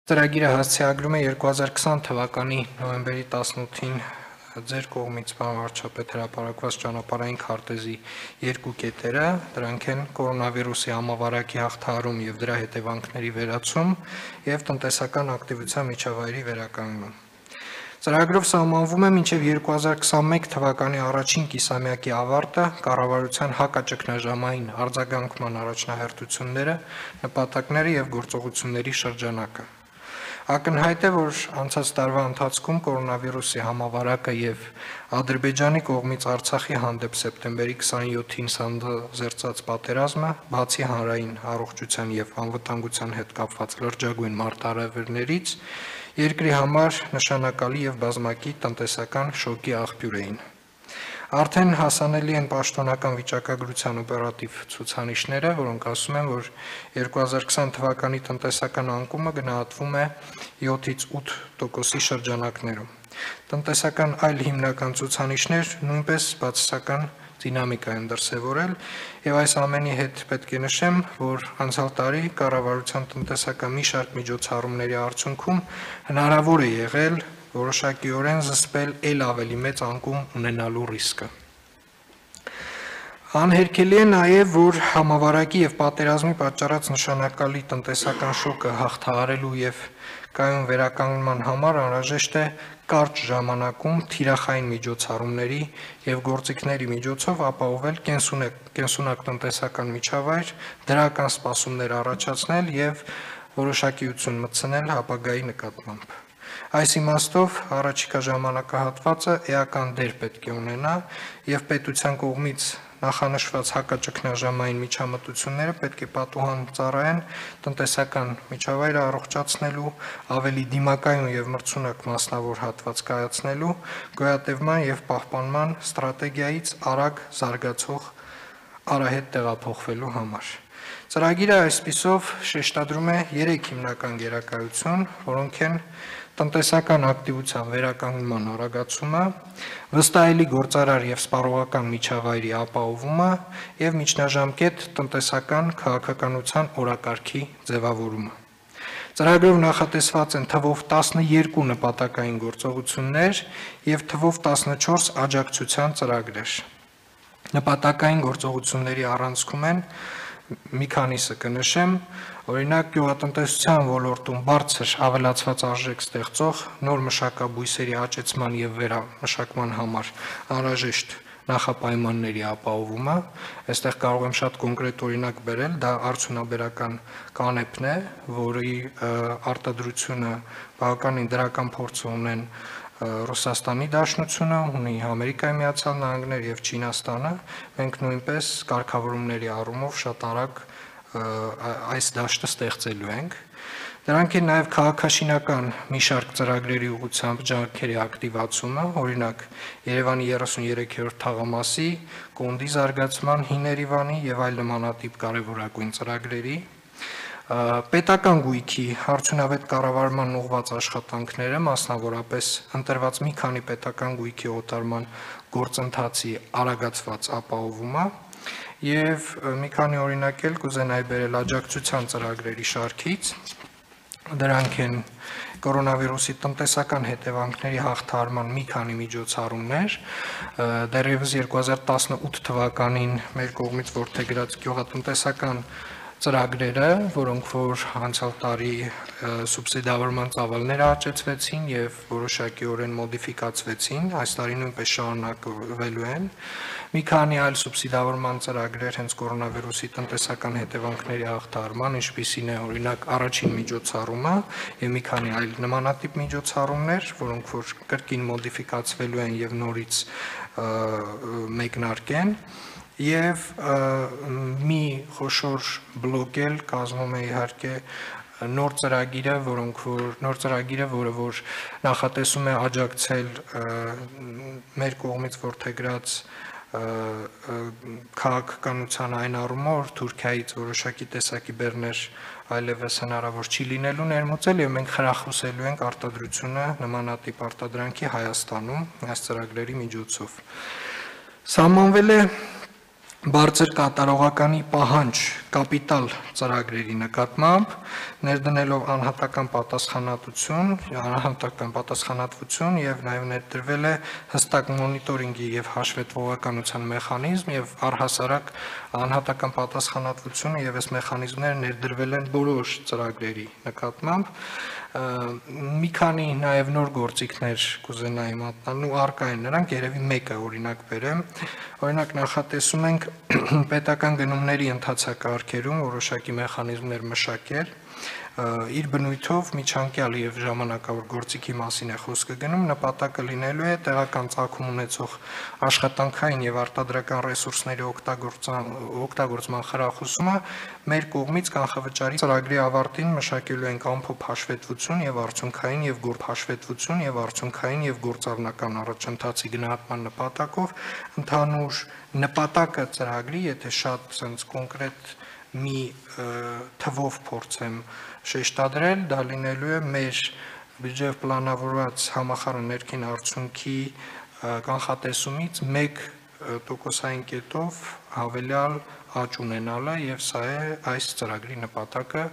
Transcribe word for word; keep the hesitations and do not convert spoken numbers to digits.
Ծրագիրը հասցեագրում է երկու հազար քսան թվականի նոյեմբերի տասնութին ձեր կողմից վարչապետ հրապարակված ճանապարհային քարտեզի երկու կետերը, դրանք են կորոնավիրուսի համավարակի հաղթահարում եւ դրա հետևանքների վերացում եւ տնտեսական ակտիվության միջավայրի վերականգնում։ Ծրագրով սահմանվում է մինչև երկու հազար քսանմեկ թվականի առաջին կիսամյակի ավարտը կառավարության հակաճգնաժամային արձագանքման առաջնահերթությունները, նպատակները եւ գործողությունների շրջանակը։ Ակնհայտ է, որ անցած տարվա ընթացքում կորոնավիրուսի համավարակը եւ Ադրբեջանի կողմից Արցախի հանդեպ սեպտեմբերի քսանյոթին սանձազերծած պատերազմը, բացի հանրային առողջության եւ անվտանգության հետ կապված լրջագույն մարտահրավերներից, երկրի համար նշանակալի եւ բազմակի տնտեսական շոկի աղբյուր էին։ Արդեն հասանելի են պաշտոնական վիճակագրության օպերատիվ ցուցանիշները, որոնք ասում են, որ երկու հազար քսան թվականի տնտեսական անկումը գնահատվում է յոթից ութ տոկոսի շրջանակներում։ Տնտեսական այլ հիմնական ցուցանիշներ նույնպես բացասական դինամիկա են դրսևորել, եւ այս ամենի հետ պետք է նշեմ, որ անցյալ տարի կառավարության տնտեսական մի շարք միջոցառումների արդյունքում հնարավոր է եղել որոշակիորեն զսպել ել ավելի մեծ անկում ունենալու ռիսկը։ Անհերքելի է նաև, որ համավարակի եւ պատերազմի պատճառած նշանակալի տնտեսական շոկը հաղթահարելու եւ կայուն վերականգնման համար անհրաժեշտ է կարճ ժամանակում թիրախային միջոցառումների եւ գործիքների միջոցով ապահովել կենսունակ տնտեսական միջավայր, դրական սպասումներ առաջացնել եւ որոշակիություն մտցնել ապագայի նկատմամբ։ Այս իմաստով առաջիկա ժամանակահատվածը էական դեր պետք է ունենա եւ պետության կողմից նախանշված հակաճգնաժամային միջամտությունները պետք է պատուհան ծառայեն տնտեսական միջավայրը առողջացնելու, ավելի դիմակայուն եւ մրցունակ մասնավոր հատված կայացնելու, գոյատևման եւ պահպանման ստրատեգիայից արագ զարգացող արահետ տեղափոխվելու համար։ Ծրագիրը այսպիսով շեշտադրում է երեք հիմնական գերակայություն, որոնք են տնտեսական ակտիվության վերականգնման արագացումը, վստահելի գործարար եւ սպառողական միջավայրի ապահովումը եւ միջնաժամկետ տնտեսական քաղաքականության օրակարգի ձևավորումը։ Ծրագրով նախատեսված են թվով տասնյոթ նպատակային գործողություններ եւ թվով տասնչորս աջակցության ծրագրեր։ Նպատակային գործողությունների առանցքում են մի քանիսը կնշեմ, օրինակ գյուղատնտեսության ոլորտում բարձր ավելացված արժեք ստեղծող նոր մշակաբույսերի աճեցման եւ վերամշակման համար անհրաժեշտ նախապայմանների ապահովումը, այստեղ կարող եմ շատ կոնկրետ օրինակ բերել, դա արդյունաբերական կանեփն է, որի արտադրությունը բավականին դրական փորձ ունեն Ռուսաստանի Դաշնությունը, ունի Ամերիկայի Միացյալ Նահանգները եւ Չինաստանը, մենք նույնպես կարգավորումների առումով շատ արագ այս դաշտը ստեղծելու ենք։ Դրանք են նաև քաղաքաշինական մի շարք ծրագրերի ուղղությամբ ջանքերի ակտիվացումը, օրինակ Երևանի երեսունյոթերորդ թաղամասի, Կոնդի զարգացման, Հիներիվանի եւ այլ նմանատիպ կարևորագույն ծրագրերի, պետական գույքի արդյունավետ կառավարման ուղղված աշխատանքները, մասնավորապես ընտրված մի քանի պետական գույքի օտարման գործընթացի արագացված ապահովումը եւ մի քանի օրինակ էլ կուզենայի բերել աջակցության ծրագրերի շարքից, դրանք են կորոնավիրուսի տնտեսական հետևանքների հաղթահարման մի քանի միջոցառումներ, դեռևս երկու հազար տասնութ թվականին մեր կողմից որդեգրած գյուղատնտեսական ծրագրերը, որոնք որ անցյալ տարի սուբսիդավորման ծավալները աճեցվեցին եւ որոշակիորեն մոդիֆիկացվեցին, այս տարի նույնպես շարունակվելու են։ Մի քանի այլ սուբսիդավորման ծրագրեր հենց կորոնավիրուսի տնտեսական հետևանքների հաղթահարման, ինչպիսին է օրինակ առաջին միջոցառումը եւ մի քանի այլ նմանատիպ միջոցառումներ, որոնք որ կրկին մոդիֆիկացվելու են եւ նորից մեկնարկեն։ Եվ մի խոշոր բլոկ էլ կազմում է իհարկե նոր ծրագիրը, որոնք որ նոր ծրագիրը, որը որ նախատեսում է աջակցել մեր կողմից որդեգրած քաղաքականության այն առումով, որ Թուրքիայից որոշակի տեսակի բեռներ այլևս հնարավոր չի լինելու ներմուծել եւ մենք խրախուսելու ենք արտադրությունը նմանատիպ արտադրանքի Հայաստանում այս ծրագրերի միջոցով։ Սահմանվել է բարձր կատարողականի պահանջ կապիտալ ծրագրերի նկատմամբ, ներդնելով անհատական պատասխանատվություն, անհատական պատասխանատվություն եւ նաեւ ներդրվել է հստակ մոնիտորինգի եւ հաշվետվողականության մեխանիզմ եւ առհասարակ անհատական պատասխանատվությունը եւ այս մեխանիզմները ներդրվել են բոլոր ծրագրերի նկատմամբ։ Մի քանի նաեւ նոր գործիքներ կուզենայի մատնանալ ու առկա են նրանք, երևի մեկը օրինակ բերեմ։ Օրինակ նախատեսում ենք պետական գնումների ընթացակարգերում որոշակի մեխանիզմներ մշակել, իր բնույթով միջանկյալ եւ ժամանակավոր գործիքի մասին է խոսքը գնում, նպատակը լինելու է տեղական ծագում ունեցող աշխատանքային եւ արտադրական ռեսուրսների օգտագործման խրախուսումը մեր կողմից կանխավճարի ծրագրի ավարտին մշակելու ենք ամփոփ հաշվետվություն եւ արդյունքային եւ գործ հաշվետվություն եւ արդյունքային եւ գործառնական առաջընթացի գնահատման նպատակով ընդհանուր նպատակը ծրագրի, եթե շատ sense կոնկրետ մի թվով փորձեմ շեշտադրել, դա լինելու է մեր բյուջեով պլանավորված համախառն ներքին արդյունքի կանխատեսումից մեկ տոկոսային կետով հավելյալ աճ ունենալը եւ սա է այս ծրագրի նպատակը